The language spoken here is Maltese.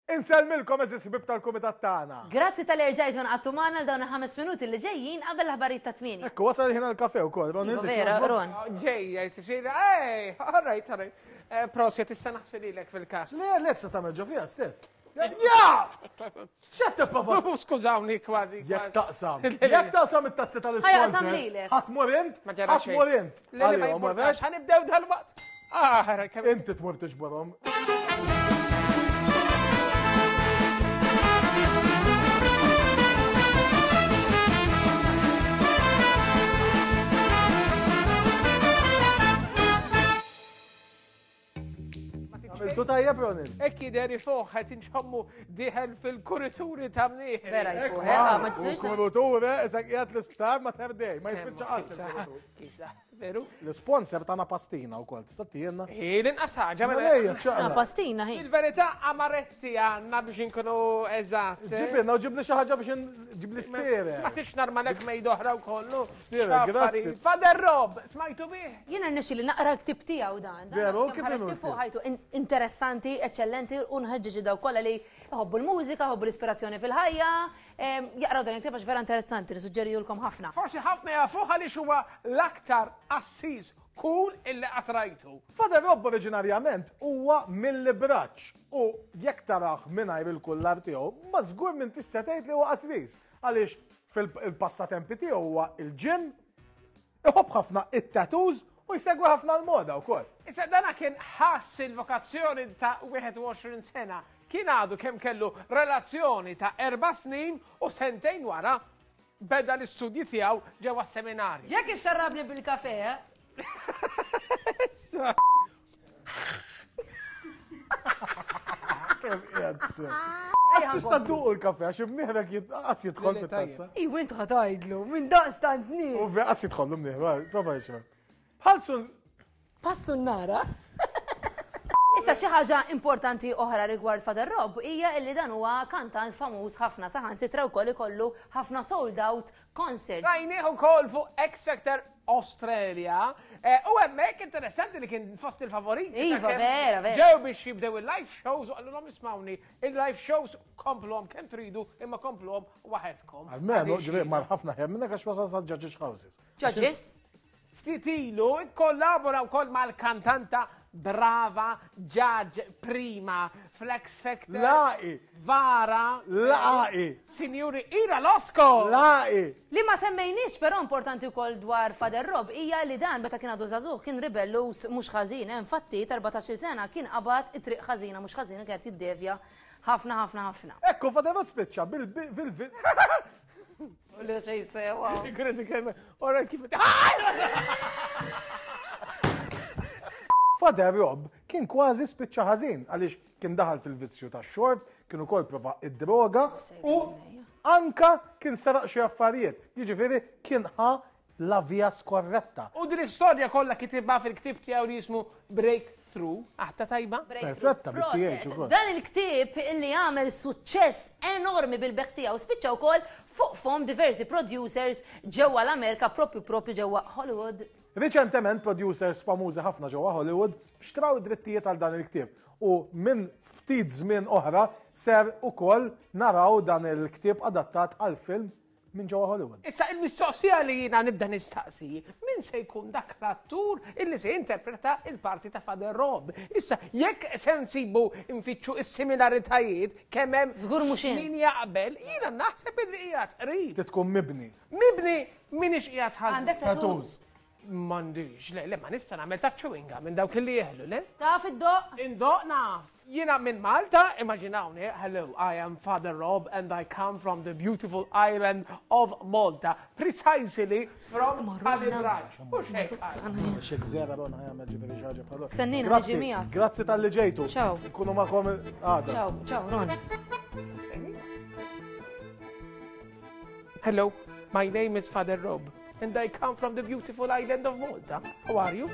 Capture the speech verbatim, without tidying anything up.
Insellmilkom, għeżież ħbieb tal-kumitat tagħna. Grazzi talli erġajtu ngħaqadtu magħna dawn il-ħames minuti li ġejjin qabel l-aħbarijiet ta' tmienja. Ekku, wasal ħin għall-kafè wkoll. Ron, Iva, inti vera, jogħġbok? Ron. Ġejja, tisir, ej, all right, all right. Eh, Prosit, issa naħsililek fil-kas. Le, le, sa tagħmel ġo fiha stess. Ja! X'qed tipprova? Skużawni, kważi. Jekk taqsam. Jekk taqsam it-tazzi Ħa jaqsam tal-isponsor. lilek. Ħa tmur int? Ma ġara Ħa xejn. tmur int. Le, le, ma Għalihom, jimportax, ħa nibdew dal-waqt. Ah, kemm- Inti tmur tiġborhom. Għamiltu tajjeb, Ronin? Hekk jidher ifuħ, qed inxommu dieħel fil-kurituri ta' mnieħ. Vera jfuħ, eh, ma tfux. Kurituri, isek qiegħed l-isptar ma terdej, ma jispiċċa qatt il-kuritur. Kisa, veru? L-sponsor tagħna pastina wkoll, tista' tienna? Hi, l-inqas ħaġa, Mela mela. ejja, Na, ċaqla. pastina, hi. Il-verità amaretti għandna biex inkunu eżatt. Ġibilna u ġibli xi ħaġa biex in- ġibli stere. Ma tix narmalek mejda oħra u kollu. Stere, grazzi. Father Rob, smajtu bih? Jiena rnexxi li naqra l-ktib tiegħu dan. Dan Veru, kemm kif ħareġ inhu fuq l-ktib? ħajtu in- interessanti, eccellenti, u nħeġġeġ daw kollha li jħobbu l-mużika, jħobbu l-ispirazzjoni fil-ħajja, em, jaqraw dan il-ktib għax vera interessanti, nissuġġerijulkom ħafna. Forsi ħafna jafuh għaliex huwa l-aktar qassis cool illi qatt rajtu. Father Rob oriġinarjament huwa mill-Ibraċ u jekk tarah mingħajr il-kullar tiegħu, ma żgur minn tista' tgħid li huwa qassis għaliex fil-passatempi tiegħu huwa il-gym, iħobb ħafna it-tattoos u jsegwi ħafna l-moda wkoll. Issa dana kien ħass il-vokazzjoni ta' wieħed u għoxrin sena. Kien għadu kemm kellu relazzjoni ta' erba' snin u sentejn wara beda l-istudji tiegħu ġewwa seminarju. Jekk ixxarrabni bil-kafè, eh? Kemm qiegħed sew. Għax tista' dduqu l-kafè għax imnieħrek qas jidħol Le, le, fit-tazza. Iw int ħa tgħidlu, minn daqstant nies. U qas jidħol mnieħru, prova jixrob. Bħal sun Passu n-nara. Issa xi ħaġa importanti oħra rigward Father Rob hija illi dan huwa kantant famuż ħafna, saħansitra wkoll ikollu ħafna sold out concert. Rajnieh ukoll fuq X Factor Australia. Eh, U hemmhekk interessanti li kien fost il-favoriti. Iva, sakemm vera, vera. Ġew biex jibdew il-live shows u qalulhom, "Ismawni, il-live shows kompluhom kemm tridu imma kompluhom waħedkom." Almenu, Għaliex ġifieri, mar ħafna ħem minnek għax wasal sa judges houses. Judges? Ftit ilu kollabora wkoll mal-kantanta brava Judge Prima fl-X Factor. Laqi. Vara. Laqi. Signori Ira Losco. Laqi. Li ma semmejniex però importanti wkoll dwar Father Rob hija li dan meta kien għadu żagħżugħ kien ribellus mhux ħażin, eh, infatti ta' erbatax-il sena kien qabad it-triq ħażina mhux ħażina, kienet jiddevja ħafna ħafna ħafna. Ekku, Father Rob spiċċa bil bil bil U li xejn sewa. Ora kif. Father Rob kien kważi spiċċa ħażin għaliex kien daħal fil-vizzju tax-xorb, kien ukoll prova id-droga u anka kien seraq xi affarijiet. Jiġifieri kien ħa la via skorretta. U din l-istorja kollha kitibha fil-ktib tiegħu li jismu Breakthrough. Aħta tajba? Perfetta, bit-T H ukoll. Dan il-ktib illi għamel suċċess enormi bil-bejgħ tiegħu spiċċa wkoll fuq fom diversi producers ġewwa l-Amerika, propju propju ġewwa Hollywood. Riċentement producers famużi ħafna ġewwa Hollywood xtraw id-drittijiet għal dan il-ktieb u minn ftit żmien oħra ser ukoll naraw dan il-ktieb adattat għal film minn ġewwa Hollywood. Issa il-mistoqsija li jiena nibda nistaqsi, min se jkun dak l-attur illi se jinterpreta il-parti ta' Father Rob? Issa, jekk se nsibu nfittxu is-similaritajiet kemm hemm Żgur mhux int. min jaqbel, jiena naħseb illi qiegħed qrib. Tkun mibni. Mibni minix qiegħed ħażin. Għandek tattoos? Tattoos. M'għandix, le, le, ma nista' nagħmel ta' chewing gum minn dawk li jeħlu, le? Taf iddoqq? Indoqq naf. Jiena minn Malta, immaġinawni, "Hello, I am Father Rob and I come from the beautiful island of Malta, precisely from Tal-Ibraġ." Mhux hekk qal. Xek vera Ron ħa jagħmel ġifieri xi ħaġa bħal. Stennina, Grazzi, niġi miegħek. grazzi talli ġejtu. Ciao. Nkunu magħkom għada. Ciao, ciao Ron. "Hello, my name is Father Rob and I come from the beautiful island of Malta. How are you?"